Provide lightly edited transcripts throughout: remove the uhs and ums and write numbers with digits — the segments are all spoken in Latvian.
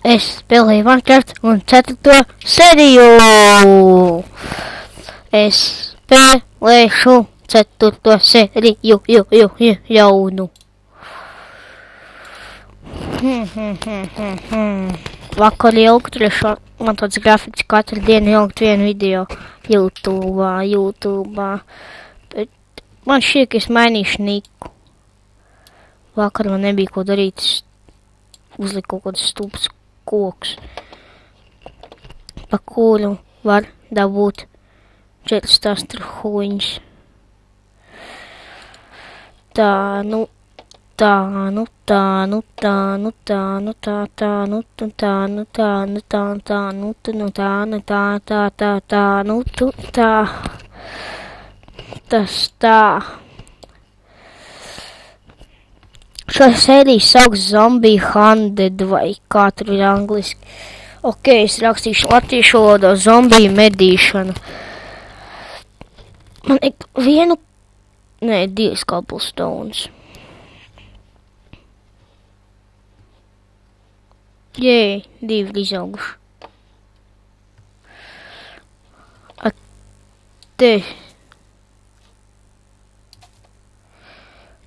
Es spēlēju Minecraft un 4. sēriju. Es spēlēšu 4. sēriju jaunu. Vakar ilgu trešo, man tāds grafiks katru dienu ilgt vienu video YouTube. Bet man šķiet, ka es mainīšu niku. Vakar man nebija ko darīt, uzliku kaut kādus stulbus kokus, pa kuru var dabūt 4 astruhuņus. Šo sēriju sauks Zombie Hunted vai kā tur ir angliski. Ok, es rakstīšu latviešu valodā zombiju medīšana. Man ir divas cobblestones. Jē, 2 izauguši. Te.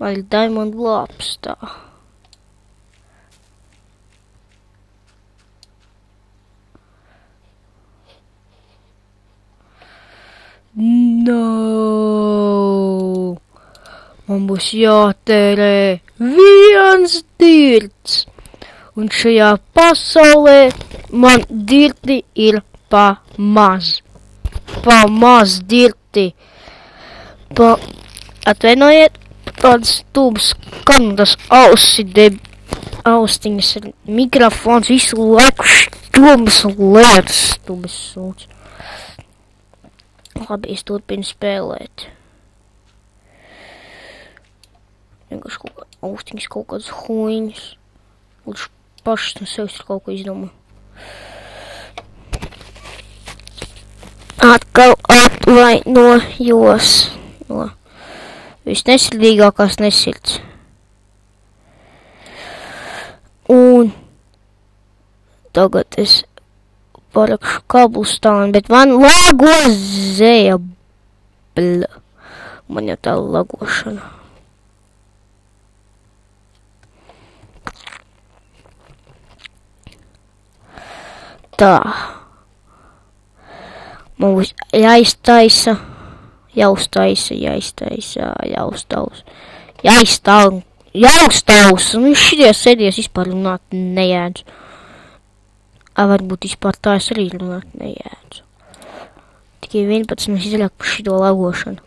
Man ir diamond laps tā. No! Man būs jātērē 1 dirts. Un šajā pasaulē man dirti ir pa maz. Pa maz dirti. Atvainojiet. Tādas stulbas kandas austiņas ar mikrofons visu laiku stulbas lietas, stulbas sūds. Labi, es turpinu spēlēt. Vienkārši kaut kā austiņas, kaut kādas huiņas. Lūdzu pašas no sevis ir kaut ko izdomā. Atkal atvainojos. Visnesirdīgākās nesirds. Un tagad es parakšu cobblestone, bet man lago zēbla. Man jau tā lagošana. Tā. Man būs jāiztaisa. Jāuztaus. Un šitie sēdies vispār runāt nejēdzu. Varbūt vispār tā es arī runāt nejēdzu. Tikai 11 izļāk par šito lagošanu.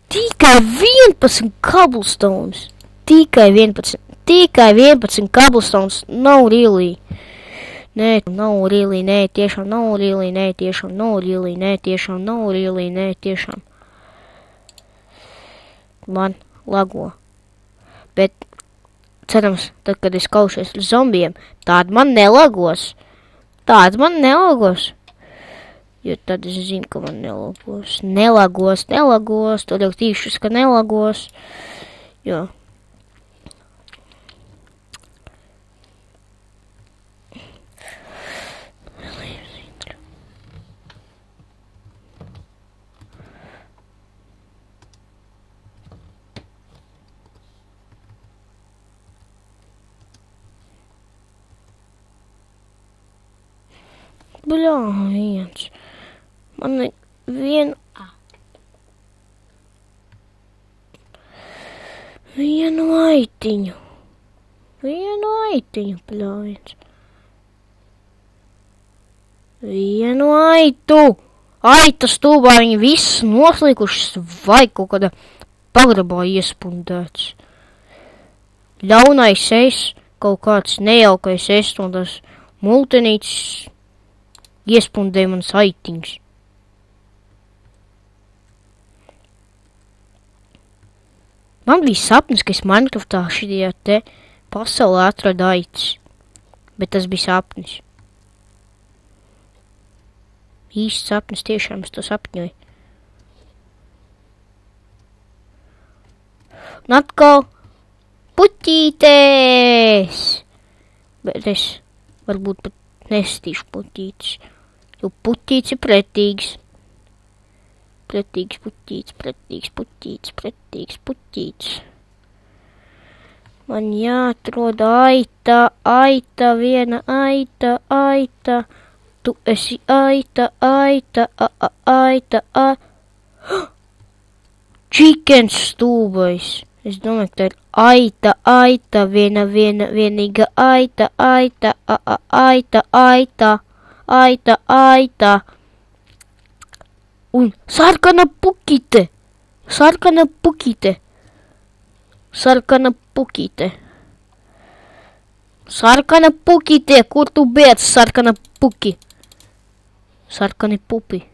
Tikai 11 cobblestones. Tikai 11 cobblestones. Nav really. Nē, nav really, nē, tiešām nav really, nē, tiešām nav really, nē, tiešām nav really, nē, tiešām. Man lago. Bet, cerams, tad, kad es kaušies ar zombijiem, tād man nelagos. Jo tad es zinu, ka man nelagos. Nelagos, to jau tīšus, ka nelagos. Jo. Bļājiens. Man ir vienu aitiņu, bļājiens. Vienu aitu. Aita stulbā viņi viss noslīkušas vai kaut kādā pagrabā iespundēts. Ļaunais es, kaut kāds nejaukais es no tās multenītes iespundēja manas aitiņas. Man bija sapnis, ka es Minecraftā šitajā te pasaulē atradu aitas. Bet tas bija sapnis. Īsts sapnis, tiešām es to sapņoju. Un atkal puķītes! Bet es varbūt pat nestīšu puķītis. Jo puķītis ir pretīgs. Pretīgs puķītis. Man jāatrod aita, viena aita. Tu esi aita. Chicken stūbais. Es domāju, ka tā ir aita, vienīga aita. Un sarkana pukite. Sarkana pukite, kur tu biec, sarkana puki? Sarkani pupi.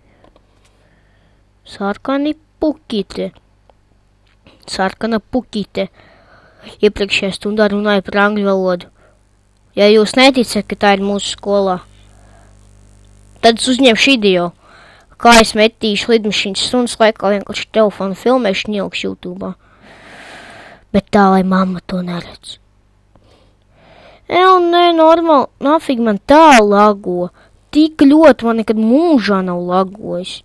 Sarkani pukite. Sarkana pukite. Iepriekšējā stundā runāju par angļu valodu. Ja jūs neticat, ka tā ir mūsu skolā, tad es uzņemšu video, kā es metīšu lidmašīnas stundas laikā vienkārši telefonu filmēšanu ielikšu YouTube'ā. Bet tā, lai mamma to neredz. Nē, normāli, nafig man tā lago. Tik ļoti man nekad mūžā nav lagojis.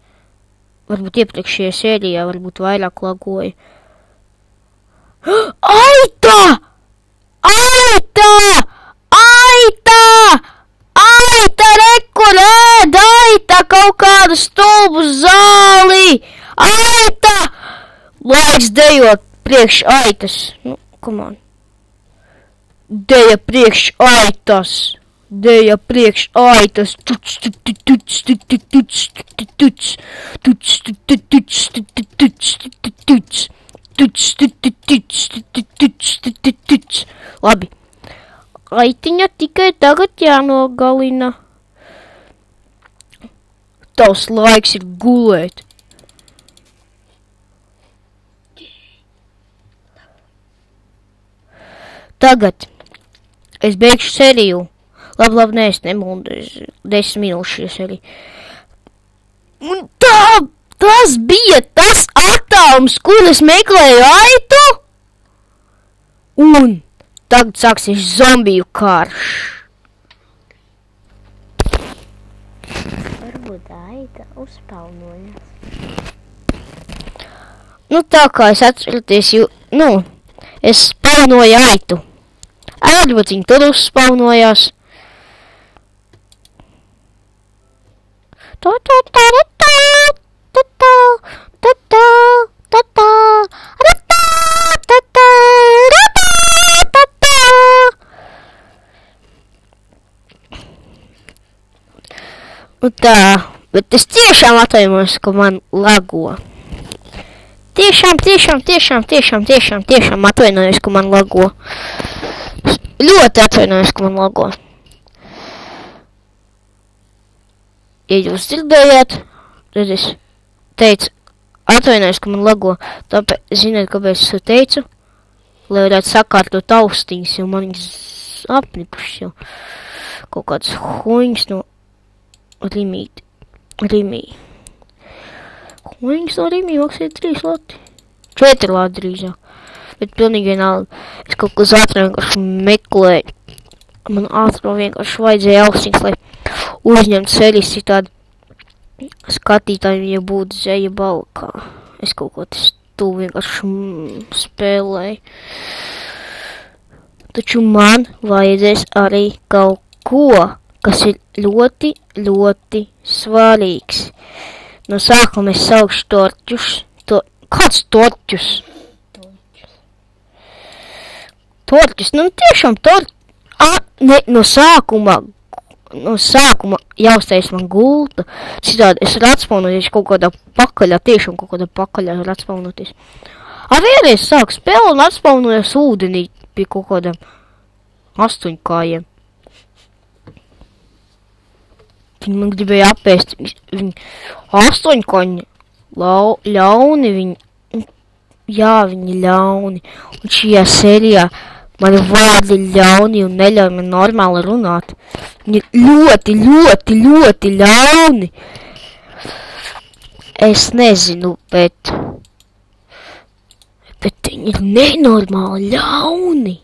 Varbūt iepriekšējā sērijā, varbūt vairāk lagoja. Aita! Rekur ēd, aita kaut kādu stulbu zāli! Aita! Laiks dejot priekš aitas. Nu, come on. Deja priekš aitas. Labi. Aitiņa tikai tagad jānogalina. Tavs laiks ir gulēt. Tagad es beigšu seriju. Labi, nē, es nemūdu. 10 minūšu seriju. Un tas bija tas attālums, kur es meklēju aitu. Un tagad sāksies zombiju karš. Varbūt aita uzspaunojas. Nu tā kā es atceroties, es spaunoju aitu. Varbūt viņi tur uzspaunojās. Tā, bet es tiešām atvainojos, ka man lago. Tiešām atvainojos, ka man lago. Ļoti atvainojos, ka man lago. Ja jūs dzirdējāt, tad es teicu, atvainojos, ka man lago. Tāpēc, ziniet, kāpēc es to teicu? Lai varētu sakārtot austiņas, jo man viņas apnikušas jau. Kaut kāds huņas no Rimī. Huņas no Rimī maksāja 3 lati. 4 lati drīzāk. Bet pilnīgi vienalga. Es kaut ko ātrāk vienkārši meklēju. Man ātrāk vienkārši vajadzēja austiņas, lai uzņemt serijas citādi skatītājiem, ja būtu zeja balkā. Es kaut ko tas tu vienkārši spēlēju. Taču man vajadzēs arī kaut ko, kas ir ļoti, ļoti svarīgs. No sākuma es saukšu torķus. Kāds torķus? Torķus, tiešām torķus. No sākuma jāuztais man gulta. Citādi es varu atspaunoties kaut kādā pakaļā, tiešām kaut kādā pakaļā var atspaunoties. Vienreiz sāku spēli un atspaunojos ūdenī pie kaut kādām 8 kājiem. Viņi man gribēja apēst. Viņi 8 kaņi ļauni viņi. Jā, viņi ļauni. Un šajā sērijā mani vārdi ļauni un neļauj man normāli runāt. Viņi ļoti, ļoti, ļoti ļauni. Es nezinu, bet viņi ir nenormāli ļauni.